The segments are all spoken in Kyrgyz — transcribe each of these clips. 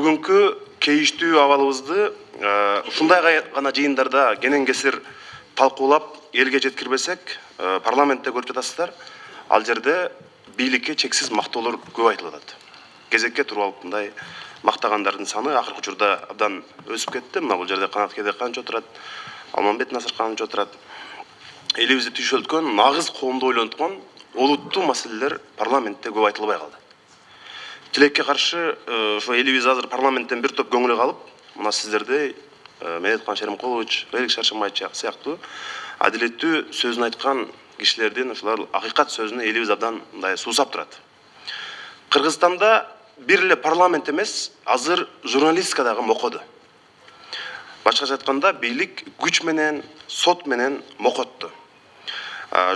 Бүгүнкү кейиштүү абалыбызды ушундай гана жыйындарда кенен кесир талкуулап элге жеткирбесек, парламентте көрүп жатасыздар, ал жерде бийликке чексиз мактоолор көп айтылып атат. Кезекке туруп алып мындай мактагандардын саны акыркы учурда абдан өсүп кетти. Мына бул жерде Канат Кедекканович отурат, Алмамбет Насырканович отурат. Элибизди түйшөлткөн, нагыз коомду ойлонткон олуттуу маселелер парламентте көп айтылбай калды. Тилекке каршы ошо элибиз азыр парламенттен бир топ көңүлү калып, мына сиздердей Медеткан Шеримкулович, Белик Шаршымбай сыяктуу адилеттүү сөзүн айткан кишилердин ошолор акыйкат сөзүнө элибиз абдан мындай суусап турат. Кыргызстанда бир эле парламент эмес, азыр журналистика дагы мокоду. Башкача айтканда, бийлик күч менен, сот менен мокотту.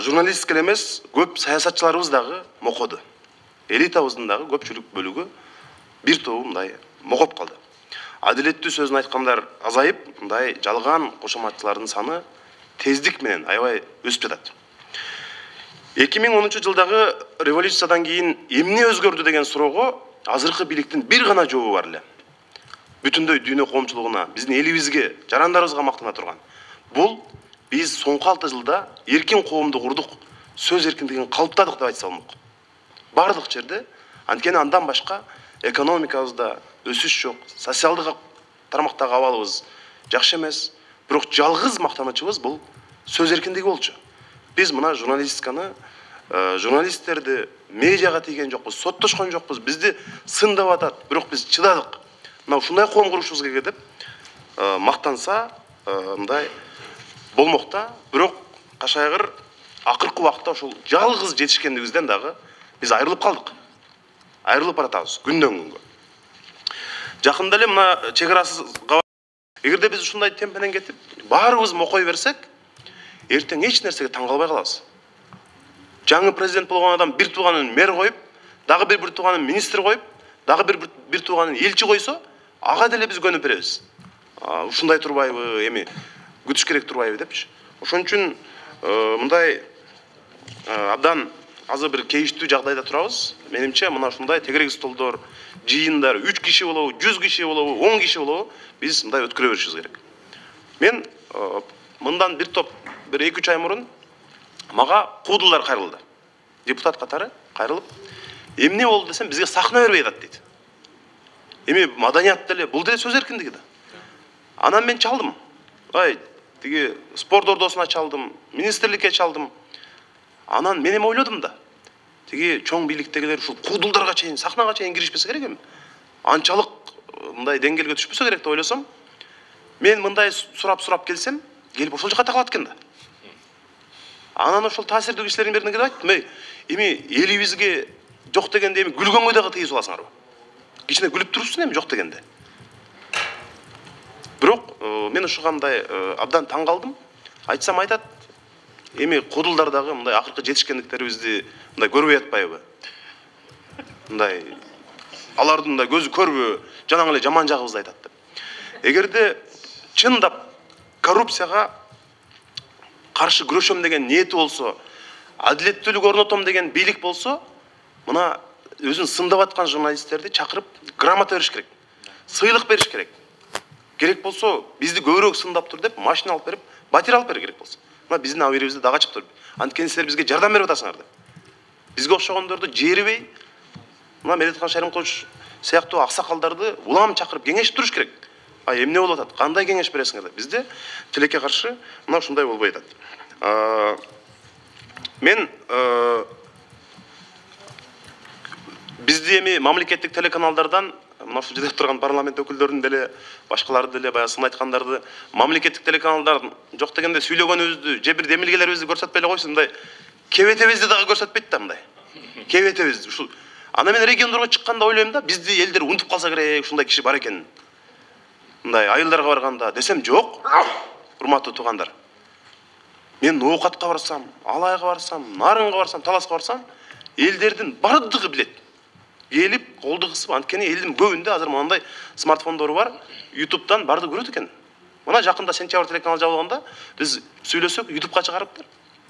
Журналистика эле эмес, көп саясатчыларыбыз дагы мокоду. Элитабыздын дагы көпчүлүк бөлүгү бир тобу мындай мокоп калды. Адилеттүү сөзүн айткандар азайып, мындай жалган кошоматчылардын саны тездик менен аябай өсүп жатат. 2010 жылдагы революциядан кийин эмне өзгөрдү деген суроого азыркы бийликтин бир гана жообу бар эле. Бүтүндөй дүйнө коомчулугуна, биздин элибизге, жарандарыбызга мактана турган. Бул биз соңку 6 жылда эркин коомду курдук, сөз эркиндигин калыптадык деп айтса болмок. Бардык жерде, анткени андан башка экономикабызда өсүш жок, социалдык тармактагы абалыбыз жакшы эмес, бирок жалгыз мактанычыбыз бул сөз эркиндиги болчу. Биз мына журналистиканы, журналисттерди медиага тийген жокпуз, соттошкон жокпуз, бизди сындап атат, бирок биз чыдадык. Мына ушундай коом курушубуз керек деп мактанса, мындай болмок да, бирок кашайгыр акыркы убакта ошол жалгыз жетишкендигибизден дагы биз айрылып калдык. Айрылып баратабыз күндөн күнгө. Жакында эле мына чек арасыз эгерде биз ушундай темп менен кетип, баарыбыз мокой берсек, эртең эч нерсеге таң калбай калабыз. Жаңы президент болгон адам бир тууганын мэр коюп, дагы бир тууганын министр коюп, дагы бир тууганын элчи койсо, ага деле биз көнүп беребиз. Ушундай турбайбы, эми күтүш керек турбайбы депчи. Ошон үчүн мындай абдан азыр бир кейиштүү жагдайда турабыз. Менимче мына ушундай тегерек столдор, жыйындар 3 киши болобу, 100 киши болобу, 10 киши болобу, биз мындай өткөрө беришибиз керек. Мен мындан бир топ, бир 2-3 ай мурун мага куудулдар кайрылды. Депутат катары кайрылып, эмне болду десем, бизге сахна бербей атат дейт. Эми маданият деле, бул деле сөз эркиндиги да. Анан мен чалдым. Тиги спорт ордосуна чалдым, министрликке чалдым. Анан мен эми ойлодум да. Тиги чоң бийликтегилер ушул куудулдарга чейин, сахнага чейин киришпесе керек эми. Анчалык мындай деңгээлге түшпөсө керек деп ойлосом, мен мындай сурап келсем, келип ошол жака такалат экен да. Анан ошол таасирдүү кишилердин бирине келип айттым, эми элибизге жок дегенде эми күлгөнгө дагы тийип аласыңарбы? Кичине күлүп турупсуң эми жок дегенде. Бирок мен ушуга мындай абдан таң калдым. Айтсам айтат, эми куудулдар дагы мындай акыркы жетишкендиктерибизди мындай көрбөй атпайбы? Мындай алардын мындай көзү көрбү, жанаң эле жаман жагыбызды айтат деп. Эгерде чындап коррупцияга каршы күрөшөм деген ниети болсо, адилеттүүлүк орнотом деген бийлик болсо, мына өзүн сындап аткан журналисттерди чакырып грамота бериш керек. Сыйлык бериш керек. Керек болсо, бизди көбүрөөк сындап тур деп машина алып берип, батир алып бериш керек болсо. Мына биздин абийирибизди дагы ачып тур. Анткени силер бизге жардам берип атасыңар деп. Бизге окшогондорду жээрибей, мына Медеткан Шеримкулович сыяктуу аксакалдарды улам чакырып кеңешип туруш керек. Эмне болуп атат? Кандай кеңеш бересиңер деп. Бизде тилекке каршы мына ушундай болбой атат. Мен бизди эми мамлекеттик телеканалдардан мына ушул жерде турган парламент өкүлдөрүнүн деле, башкаларды деле баягы сын айткандарды мамлекеттик телеканалдар жок дегенде сүйлөгөнүбүздү, же бир демилгелерибизди көрсөтпөй эле койсун, мындай кебетебизди дагы көрсөтпөйт да мындай. Кебетебизди ушул. Ана мен региондорго чыкканда ойлойм да, бизди элдер унутуп калса керек, ушундай киши бар экенин. Мындай айылдарга барганда десем жок. Урматтуу туугандар. Мен Ноокатка барсам, Алайга барсам, Нарынга барсам, Таласка барсам, элдердин бардыгы билет. Келип, колду кысып, анткени элдин көбүндө азыр мындай смартфондору бар, YouTube'дан барды көрөт экен. Мына жакында сентябрь телеканалы жабылганда, биз сүйлөсөк, YouTube'га чыгарыптыр.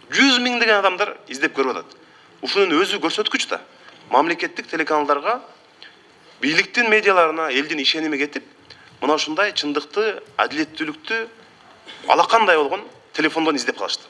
100 миңдеген адамдар издеп көрүп атат. Ушунун өзү көрсөткүч да. Мамлекеттик телеканалдарга бийликтин медиаларына элдин ишеними кетип, мына ушундай чындыкты, адилеттүүлүктү алакандай болгон телефондон издеп калышты.